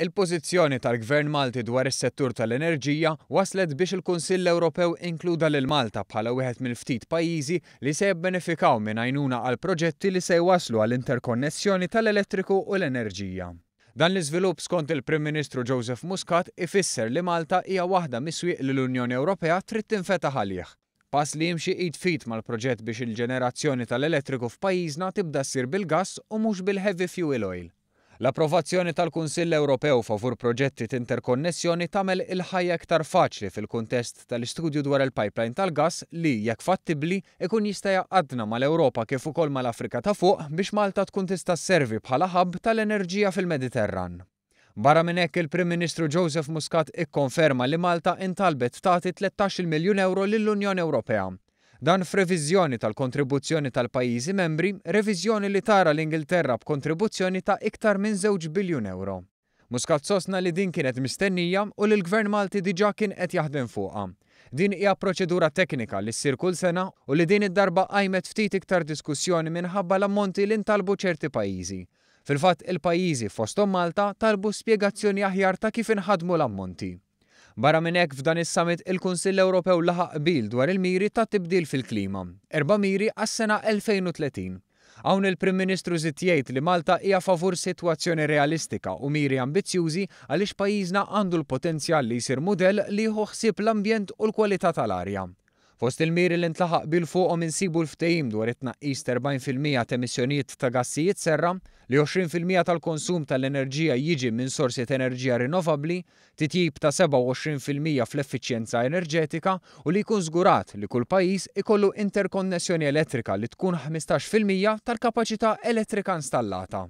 Il-pożizzjoni tal-Gvern Malti dwar is-settur tal-enerġija waslet biex il-Kunsill Ewropew inkluda lil Malta bħala wieħed mill-ftit pajjiżi li se jibbenefikaw minn għajnuna għal proġetti li se jwasslu għal interkonnessjoni tal-elettriku u l-enerġija. Dan l-iżvilupp skont il-Prim Ministru Joseph Muscat ifisser li Malta hija waħda mis-swieq li l-Unjoni Ewropea trid tinfetaħ għalih. Pass li jimxi id f'id mal-proġett biex il-ġenerazzjoni tal-elettriku f'pajjiżna tibda ssir bil-gass u mhux bil-heavy fuel oil. L-approvazzjoni tal-Kunsill Ewropew favur proġetti t'interkonnessjoni tagħmel il-ħajja iktar faċli fil-kuntest tal-istudju dwar il-pipeline tal-gass li, jekk fattibbli, ikun jista' jgħaqqadna mal-Ewropa kif ukoll mal-Afrika ta' Fuq biex Malta tkun tista' sservi bħala hub tal-enerġija fil-Mediterran. Barra minn hekk, il-Prim Ministru Joseph Muscat ikkonferma li Malta intalbet tagħti 13-il miljun ewro lill-Unjoni Ewropea. Dan f'reviżjoni tal-kontribuzzjoni tal-pajjiżi membri, reviżjoni li tara l-Ingilterra b'kontribuzzjoni ta' iktar minn żewġ biljun ewro. Muscat sostna li din kienet mistennija u li l-Gvern Malti diġà kien qed jaħdem fuqha. Din hija proċedura teknika li ssir kull sena u li din id-darba qajmet ftit iktar diskussjoni minħabba l-ammonti li ntalbu ċerti pajjiżi. Fil-fatt, il-pajjiżi, fosthom Malta, talbu spjegazzjoni aħjar ta' kif inħadmu l-ammonti. Barra minn hekk, f'dan is-summit il-Kunsill Ewropew laħaq qbil dwar il-miri tat-tibdil fil-klima, erba' miri għas-sena 2030. Hawn il-Prim Ministru żied jgħid li Malta hija favur sitwazzjoni realistika u miri ambizzjużi għaliex pajjiżna għandu l-potenzjal li jsir mudell li jieħu ħsieb l-ambjent u l-kwalità tal-arja. Fost il-miri li ntlaħaq qbil fuqhom insibu l-ftehim dwar it-tnaqqis t'40% t'emissjonijiet ta' gassijiet serra, li 20% tal-konsum tal-enerġija jiġi minn sorsi t'enerġija rinnovabbli, titjib ta' 27% fl-effiċjenza enerġetika u li jkun żgurat li kull pajjiż ikollu interkonnessjoni elettrika li tkun 15% tal-kapaċità elettrika installata.